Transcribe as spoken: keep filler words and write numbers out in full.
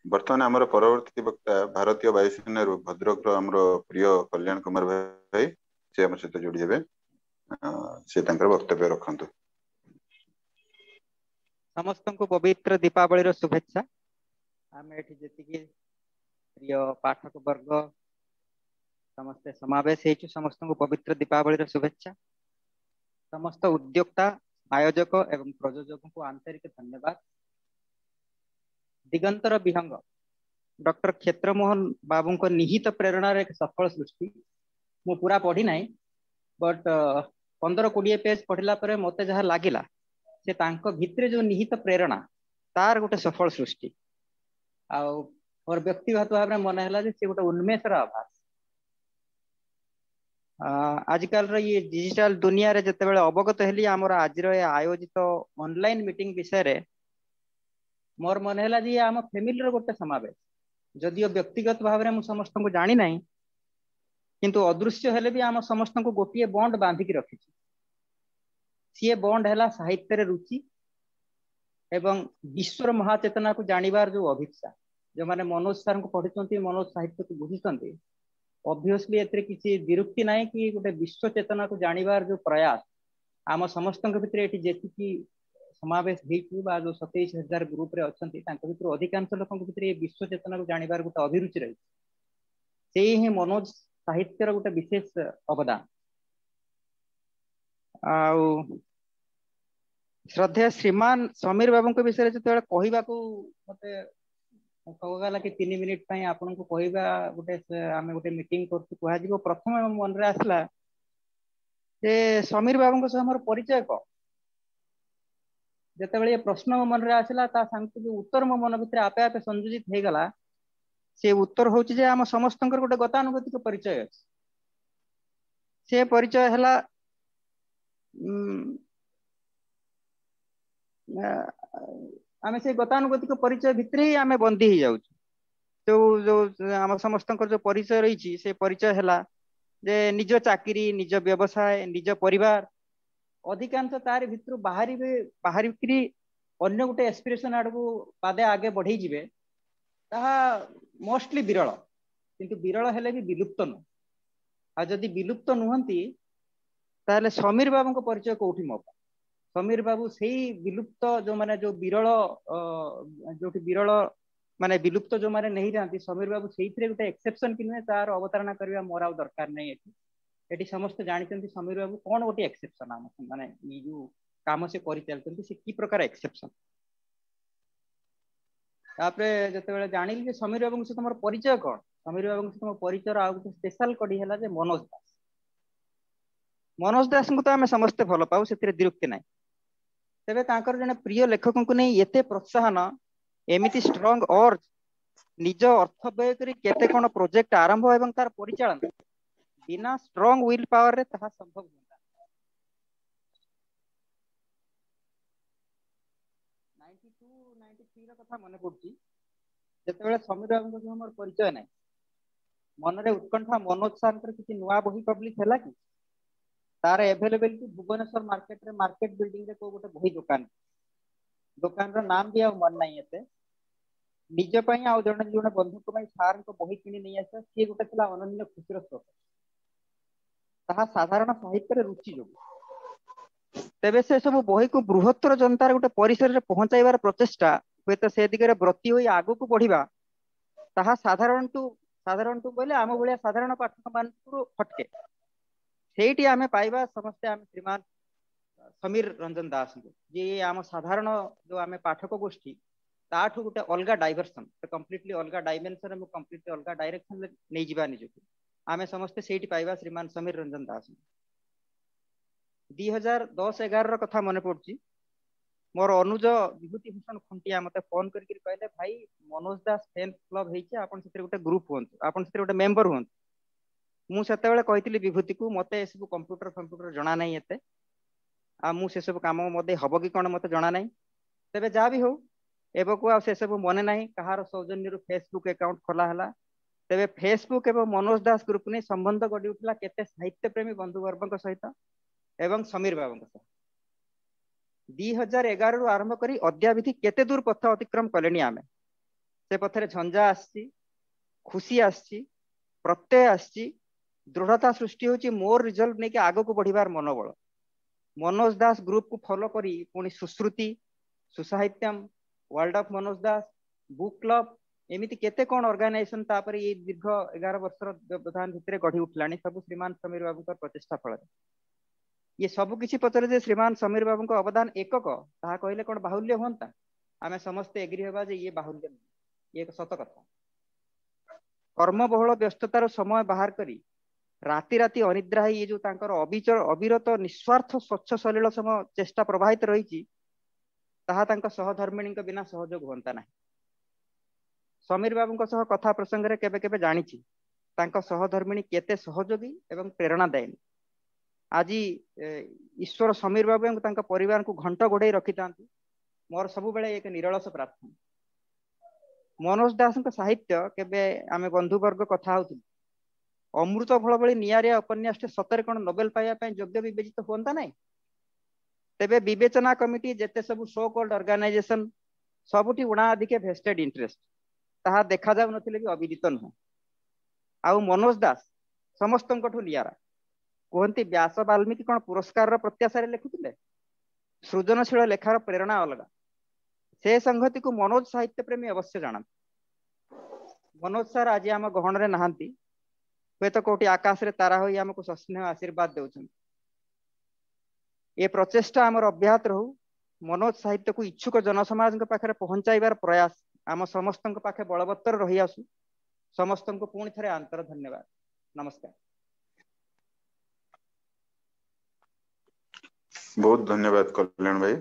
ବର୍ତ୍ତମାନ ଆମର ପରବର୍ତ୍ତୀ ବକ୍ତା ଭାରତୀୟ ବାୟୁସେନାରୁ ଭଦ୍ରକର ଆମର ପ୍ରିୟ କଲ୍ୟାଣ କୁମାର ଭାଇ, ସେ ଆମ ସହିତ ଯୋଡି ହେବେ। ସେ ତାଙ୍କର ବକ୍ତବ୍ୟ ରଖନ୍ତୁ। ସମସ୍ତଙ୍କୁ ପବିତ୍ର ଦୀପାବଳିର ଶୁଭେଚ୍ଛା। ଆମେ ଏଠି ଯେତିକି ପ୍ରିୟ ପାଠକ ବର୍ଗ ସମସ୍ତେ ସମାବେଶ ହେଇଛୁ, ସମସ୍ତଙ୍କୁ ପବିତ୍ର ଦୀପାବଳିର ଶୁଭେଚ୍ଛା। ସମସ୍ତ ଉଦ୍ୟୋକ୍ତା, ଆୟୋଜକ ଏବଂ ପ୍ରଯୋଜକଙ୍କୁ ଆନ୍ତରିକ ଧନ୍ୟବାଦ। ଦିଗନ୍ତର ବିହଙ୍ଗ ଡକ୍ଟର କ୍ଷେତ୍ରମୋହନ ବାବୁଙ୍କ ନିହିତ ପ୍ରେରଣାର ଏକ ସଫଳ ସୃଷ୍ଟି। ମୁଁ ପୁରା ପଢି ନାହିଁ, ବଟ୍ ପନ୍ଦର କୋଡ଼ିଏ ପେଜ ପଢିଲା ପରେ ମତେ ଯାହା ଲାଗିଲା ସେ ତାଙ୍କ ଭିତରେ ଯୋଉ ନିହିତ ପ୍ରେରଣା ତାର ଗୋଟେ ସଫଳ ସୃଷ୍ଟି। ଆଉ ମୋର ବ୍ୟକ୍ତିଗତ ଭାବରେ ମନେ ହେଲା ଯେ ସେ ଗୋଟେ ଉନ୍ମେଷର ଆଭାସ। ଆଜିକାଲିର ଇଏ ଡିଜିଟାଲ ଦୁନିଆରେ ଯେତେବେଳେ ଅବଗତ ହେଲି ଆମର ଆଜିର ଏ ଆୟୋଜିତ ଅନଲାଇନ ମିଟିଂ ବିଷୟରେ, ମୋର ମନେ ହେଲା ଯେ ଇଏ ଆମ ଫ୍ୟାମିଲିର ଗୋଟେ ସମାବେଶ। ଯଦିଓ ବ୍ୟକ୍ତିଗତ ଭାବରେ ମୁଁ ସମସ୍ତଙ୍କୁ ଜାଣିନାହିଁ, କିନ୍ତୁ ଅଦୃଶ୍ୟ ହେଲେ ବି ଆମ ସମସ୍ତଙ୍କୁ ଗୋଟିଏ ବଣ୍ଡ ବାନ୍ଧିକି ରଖିଛି। ସିଏ ବଣ୍ଡ ହେଲା ସାହିତ୍ୟରେ ରୁଚି ଏବଂ ବିଶ୍ୱର ମହାଚେତନାକୁ ଜାଣିବାର ଯୋଉ ଅଭିପ୍ସା। ଯୋଉମାନେ ମନୋଜ ସାରଙ୍କୁ ପଢିଛନ୍ତି, ମନୋଜ ସାହିତ୍ୟକୁ ବୁଝିଛନ୍ତି, ଅବଭିୟସଲି ଏଥିରେ କିଛି ବିରୁକ୍ତି ନାହିଁ କି ଗୋଟେ ବିଶ୍ୱ ଚେତନାକୁ ଜାଣିବାର ଯୋଉ ପ୍ରୟାସ ଆମ ସମସ୍ତଙ୍କ ଭିତରେ ଏଠି ଯେତିକି ସମାବେଶ ହେଇଛୁ ବା ଯୋଉ ସତେଇଶ ହଜାର ଗ୍ରୁପରେ ଅଛନ୍ତି, ତାଙ୍କ ଭିତରୁ ଅଧିକାଂଶ ଲୋକଙ୍କ ଭିତରେ ଏ ବିଶ୍ୱ ଚେତନାକୁ ଜାଣିବାର ଗୋଟେ ଅଭିରୁଚି ରହିଛି। ସେଇ ହିଁ ମନୋଜ ସାହିତ୍ୟର ଗୋଟେ ବିଶେଷ ଅବଦାନ। ଆଉ ଶ୍ରଦ୍ଧେୟ ଶ୍ରୀମାନ ସମୀର ବାବୁଙ୍କ ବିଷୟରେ ଯେତେବେଳେ କହିବାକୁ ମତେ କୁହାଗଲା କି ତିନି ମିନିଟ ପାଇଁ ଆପଣଙ୍କୁ କହିବା, ଗୋଟେ ଆମେ ଗୋଟେ ମିଟିଂ କରୁଛୁ କୁହାଯିବ, ପ୍ରଥମେ ମୋ ମନରେ ଆସିଲା ଯେ ସମୀର ବାବୁଙ୍କ ସହ ମୋର ପରିଚୟ କଣ। ଯେତେବେଳେ ଏ ପ୍ରଶ୍ନ ମୋ ମନରେ ଆସିଲା, ତା ସାଙ୍ଗକୁ ଯୋଉ ଉତ୍ତର ମୋ ମନ ଭିତରେ ଆପେ ଆପେ ସଂଯୋଜିତ ହେଇଗଲା, ସେ ଉତ୍ତର ହଉଛି ଯେ ଆମ ସମସ୍ତଙ୍କର ଗୋଟେ ଗତାନୁଗତିକ ପରିଚୟ ଅଛି। ସେ ପରିଚୟ ହେଲା ଆମେ ସେ ଗତାନୁଗତିକ ପରିଚୟ ଭିତରେ ହିଁ ଆମେ ବନ୍ଦୀ ହେଇଯାଉଛୁ। ଯୋଉ ଯୋଉ ଆମ ସମସ୍ତଙ୍କର ଯୋଉ ପରିଚୟ ରହିଛି, ସେ ପରିଚୟ ହେଲା ଯେ ନିଜ ଚାକିରି, ନିଜ ବ୍ୟବସାୟ, ନିଜ ପରିବାର, ଅଧିକାଂଶ ତାରି ଭିତରୁ ବାହାରିବେ, ବାହାରିକିରି ଅନ୍ୟ ଗୋଟେ ଏସ୍ପିରେସନ ଆଡକୁ ପାଦେ ଆଗେ ବଢେଇ ଯିବେ, ତାହା ମୋଷ୍ଟଲି ବିରଳ। କିନ୍ତୁ ବିରଳ ହେଲେ ବି ବିଲୁପ୍ତ ନୁହଁ। ଆଉ ଯଦି ବିଲୁପ୍ତ ନୁହନ୍ତି, ତାହେଲେ ସମୀର ବାବୁଙ୍କ ପରିଚୟ କୋଉଠି ମୋ ପାଇଁ? ସମୀର ବାବୁ ସେଇ ବିଲୁପ୍ତ ଯୋଉମାନେ ଯୋଉ ବିରଳ, ଯୋଉଠି ବିରଳ ମାନେ ବିଲୁପ୍ତ ଯୋଉମାନେ ନେଇଯାଆନ୍ତି, ସମୀର ବାବୁ ସେଇଥିରେ ଗୋଟେ ଏକ୍ସେପସନ କି ନୁହେଁ ତାର ଅବତାରଣା କରିବା ମୋର ଆଉ ଦରକାର ନାହିଁ। ଏଠି ଏଠି ସମସ୍ତେ ଜାଣିଛନ୍ତି ସମୀର ବାବୁ କଣ ଗୋଟେ ଏକ୍ସେପସନ, ଆମ ମାନେ ଏଇ ଯୋଉ କାମ ସେ କରିଚାଲିଛନ୍ତି ସେ କି ପ୍ରକାର ଏକ୍ସେପସନ। ତାପରେ ଯେତେବେଳେ ଜାଣିଲି ଯେ ସମୀର ବାବୁଙ୍କ ସହିତ ମୋର ପରିଚୟ କଣ, ସମୀର ବାବୁଙ୍କ ସହିତ ମୋ ପରିଚୟର ଆଉ ଗୋଟେ ସ୍ପେଶାଲ କଡି ହେଲା ଯେ ମନୋଜ ଦାସ। ମନୋଜ ଦାସଙ୍କୁ ତ ଆମେ ସମସ୍ତେ ଭଲ ପାଉ, ସେଥିରେ ଦ୍ୱିରୁକ୍ତି ନାହିଁ। ତେବେ ତାଙ୍କର ଜଣେ ପ୍ରିୟ ଲେଖକଙ୍କୁ ନେଇ ଏତେ ପ୍ରୋତ୍ସାହନ, ଏମିତି ଷ୍ଟ୍ରଙ୍ଗ ଅର୍ଜ, ନିଜ ଅର୍ଥ ବ୍ୟୟ କରି କେତେ କଣ ପ୍ରୋଜେକ୍ଟ ଆରମ୍ଭ ଏବଂ ତାର ପରିଚାଳନା, ବିନା ଷ୍ଟ୍ରଙ୍ଗ will ପାୱାରରେ ତାହା ସମ୍ଭବ ହୁଅନ୍ତା। ନାଇଣ୍ଟି ଟୁ ନାଇଣ୍ଟି ଥ୍ରୀ ର କଥା ମନେ ପଡୁଛି, ଯେତେବେଳେ ସମୀର ବାବୁଙ୍କ ସହ ମୋର ପରିଚୟ ନାହିଁ, ମନରେ ଉତ୍କଣ୍ଠା ମନୋଜ ସାରଙ୍କର କିଛି ନୂଆ ବହି ପବ୍ଲିଶ ହେଲା କି, ତାର ଏଭେଲେବିଲିଟି ଭୁବନେଶ୍ୱର ମାର୍କେଟରେ, ମାର୍କେଟ ବିଲ୍ଡିଂରେ କୋଉ ଗୋଟେ ବହି ଦୋକାନ, ଦୋକାନର ନାମ ବି ଆଉ ମନେ ନାହିଁ ଏତେ। ନିଜ ପାଇଁ ଆଉ ଜଣେ ଜଣେ ବନ୍ଧୁଙ୍କ ପାଇଁ ସାରଙ୍କ ବହି କିଣି ନେଇ ଆସିବା, ସିଏ ଗୋଟେ ଥିଲା ଅନନ୍ୟ ଖୁସିର ସ୍ରୋତ। ତାହା ସାଧାରଣ ସାହିତ୍ୟରେ ରୁଚି ଯୋଗୁ। ତେବେ ସେ ସବୁ ବହିକୁ ବୃହତ୍ତର ଜନତାର ଗୋଟେ ପରିସରରେ ପହଞ୍ଚାଇବାର ପ୍ରଚେଷ୍ଟା, ହୁଏତ ସେ ଦିଗରେ ବ୍ରତୀ ହୋଇ ଆଗକୁ ବଢିବା, ତାହା ସାଧାରଣଠୁ ସାଧାରଣଠୁ କହିଲେ ଆମ ଭଳିଆ ସାଧାରଣ ପାଠକ ମାନଙ୍କୁ ହଟକେ। ସେଇଠି ଆମେ ପାଇବା ସମସ୍ତେ ଆମେ ଶ୍ରୀମାନ ସମୀର ରଞ୍ଜନ ଦାସଙ୍କୁ, ଯିଏ ଆମ ସାଧାରଣ ଯୋଉ ଆମେ ପାଠକ ଗୋଷ୍ଠୀ ତାଠୁ ଗୋଟେ ଅଲଗା ଡାଇଭରସନ, କମ୍ପ୍ଲିଟଲି ଅଲଗା ଡାଇମେନସନ ଏବଂ କମ୍ପ୍ଲିଟଲି ଅଲଗା ଡାଇରେକ୍ସନରେ ନେଇଯିବା ନିଜକୁ, ଆମେ ସମସ୍ତେ ସେଇଠି ପାଇବା ଶ୍ରୀମାନ ସମୀର ରଞ୍ଜନ ଦାସଙ୍କୁ। ଦି ହଜାର ଦଶ ଏଗାରର କଥା ମନେ ପଡୁଛି, ମୋର ଅନୁଜ ବିଭୂତି ଭୂଷଣ ଖୁଣ୍ଟିଆ ମତେ ଫୋନ କରିକି କହିଲେ, ଭାଇ ମନୋଜ ଦାସ ଫ୍ୟାନ୍ କ୍ଲବ ହେଇଛି, ଆପଣ ସେଥିରେ ଗୋଟେ ଗ୍ରୁପ ହୁଅନ୍ତୁ, ଆପଣ ସେଥିରେ ଗୋଟେ ମେମ୍ବର ହୁଅନ୍ତୁ। ମୁଁ ସେତେବେଳେ କହିଥିଲି ବିଭୂତିକୁ, ମତେ ଏସବୁ କମ୍ପ୍ୟୁଟର ଫମ୍ପ୍ୟୁଟର ଜଣା ନାହିଁ ଏତେ, ଆଉ ମୁଁ ସେସବୁ କାମ ମୋ ଦେଇ ହବ କି କଣ ମତେ ଜଣା ନାହିଁ। ତେବେ ଯାହା ବି ହଉ, ଏବକୁ ଆଉ ସେସବୁ ମନେ ନାହିଁ କାହାର ସୌଜନ୍ୟରୁ ଫେସବୁକ୍ ଆକାଉଣ୍ଟ ଖୋଲା ହେଲା। ତେବେ ଫେସବୁକ୍ ଏବଂ ମନୋଜ ଦାସ ଗ୍ରୁପ ନେଇ ସମ୍ବନ୍ଧ ଗଢି ଉଠିଲା କେତେ ସାହିତ୍ୟ ପ୍ରେମୀ ବନ୍ଧୁବର୍ଗଙ୍କ ସହିତ ଏବଂ ସମୀର ବାବୁଙ୍କ ସହ। ଦି ହଜାର ଏଗାରରୁ ଆରମ୍ଭ କରି ଅଦ୍ୟାବଧି କେତେ ଦୂର ପଥ ଅତିକ୍ରମ କଲେଣି ଆମେ। ସେ ପଥରେ ଝଞ୍ଜା ଆସିଛି, ଖୁସି ଆସିଛି, ପ୍ରତ୍ୟୟ ଆସିଛି, ଦୃଢ଼ତା ସୃଷ୍ଟି ହଉଛି, ମୋର ରିଜଲ୍ଭ ନେଇକି ଆଗକୁ ବଢିବାର ମନୋବଳ। ମନୋଜ ଦାସ ଗ୍ରୁପକୁ ଫଲୋ କରି ପୁଣି Sushruti, Susahityam, world of Manoj Das, book club, ଏମିତି କେତେ କଣ ଅର୍ଗାନାଇଜେସନ ତାପରେ ଏଇ ଦୀର୍ଘ ଏଗାର ବର୍ଷର ବ୍ୟବଧାନ ଭିତରେ ଗଢି ଉଠିଲାଣି, ସବୁ ଶ୍ରୀମାନ ସମୀର ବାବୁଙ୍କ ପ୍ରଚେଷ୍ଟା ଫଳରେ। ଇଏ ସବୁ କିଛି ପଛରେ ଯେ ଶ୍ରୀମାନ ସମୀର ବାବୁଙ୍କ ଅବଦାନ ଏକକ, ତାହା କହିଲେ କଣ ବାହୁଲ୍ୟ ହୁଅନ୍ତା? ଆମେ ସମସ୍ତେ ଏଗ୍ରି ହେବା ଯେ ଇଏ ବାହୁଲ୍ୟ ନୁହେଁ, ଇଏ ଏକ ସତ କଥା। କର୍ମବହୁଳ ବ୍ୟସ୍ତତାର ସମୟ ବାହାର କରି ରାତି ରାତି ଅନିଦ୍ରା ହେଇ ଇଏ ଯୋଉ ତାଙ୍କର ଅବିଚଳ ଅବିରତ ନିସ୍ୱାର୍ଥ ସ୍ୱଚ୍ଛ ସଲିଳ ସମ ଚେଷ୍ଟା ପ୍ରବାହିତ ରହିଛି, ତାହା ତାଙ୍କ ସହଧର୍ମିଣୀଙ୍କ ବିନା ସହଯୋଗ ହୁଅନ୍ତା ନାହିଁ। ସମୀର ବାବୁଙ୍କ ସହ କଥା ପ୍ରସଙ୍ଗରେ କେବେ କେବେ ଜାଣିଛି ତାଙ୍କ ସହଧର୍ମିଣୀ କେତେ ସହଯୋଗୀ ଏବଂ ପ୍ରେରଣାଦାୟିନୀ। ଆଜି ଈଶ୍ୱର ସମୀର ବାବୁ ଏବଂ ତାଙ୍କ ପରିବାରକୁ ଘଣ୍ଟ ଘୋଡେଇ ରଖିଥାନ୍ତି, ମୋର ସବୁବେଳେ ଏକ ନିରଳସ ପ୍ରାର୍ଥନା। ମନୋଜ ଦାସଙ୍କ ସାହିତ୍ୟ କେବେ ଆମେ ବନ୍ଧୁବର୍ଗ କଥା ହଉଥିଲୁ, ଅମୃତ ଫଳ ଭଳି ନିଆରିଆ ଉପନ୍ୟାସଟି ସତରେ କଣ ନୋବେଲ ପାଇବା ପାଇଁ ଯୋଗ୍ୟ ବିବେଚିତ ହୁଅନ୍ତା ନାହିଁ? ତେବେ ବିବେଚନା କମିଟି ଯେତେ ସବୁ ସୋ କଲ୍ଡ ଅର୍ଗାନାଇଜେସନ ସବୁଠି ଉଣା ଅଧିକେ ଭେଷ୍ଟେଡ ଇଣ୍ଟରେଷ୍ଟ, ତାହା ଦେଖାଯାଉନଥିଲେ ବି ଅବିଦିତ ନୁହେଁ। ଆଉ ମନୋଜ ଦାସ ସମସ୍ତଙ୍କଠୁ ନିଆରା। କୁହନ୍ତି ବ୍ୟାସ ବାଲ୍ମୀକି କଣ ପୁରସ୍କାରର ପ୍ରତ୍ୟାଶାରେ ଲେଖୁଥିଲେ? ସୃଜନଶୀଳ ଲେଖାର ପ୍ରେରଣା ଅଲଗା। ସେ ସଂହତିକୁ ମନୋଜ ସାହିତ୍ୟ ପ୍ରେମୀ ଅବଶ୍ୟ ଜାଣନ୍ତି। ମନୋଜ ସାର୍ ଆଜି ଆମ ଗହଣରେ ନାହାନ୍ତି, ହୁଏତ କୋଉଠି ଆକାଶରେ ତାରା ହୋଇ ଆମକୁ ସସ୍ନେହ ଆଶୀର୍ବାଦ ଦେଉଛନ୍ତି। ଏ ପ୍ରଚେଷ୍ଟା ଆମର ଅବ୍ୟାହତ ରହୁ। ମନୋଜ ସାହିତ୍ୟକୁ ଇଚ୍ଛୁକ ଜନସମାଜଙ୍କ ପାଖରେ ପହଞ୍ଚାଇବାର ପ୍ରୟାସ ଆମ ସମସ୍ତଙ୍କ ପାଖେ ବଳବତ୍ତର ରହି ଆସୁ। ସମସ୍ତଙ୍କୁ ପୁଣି ଥରେ ଆନ୍ତର ଧନ୍ୟବାଦ। ନମସ୍କାର। ବହୁତ ଧନ୍ୟବାଦ କଲ୍ୟାଣ ଭାଇ।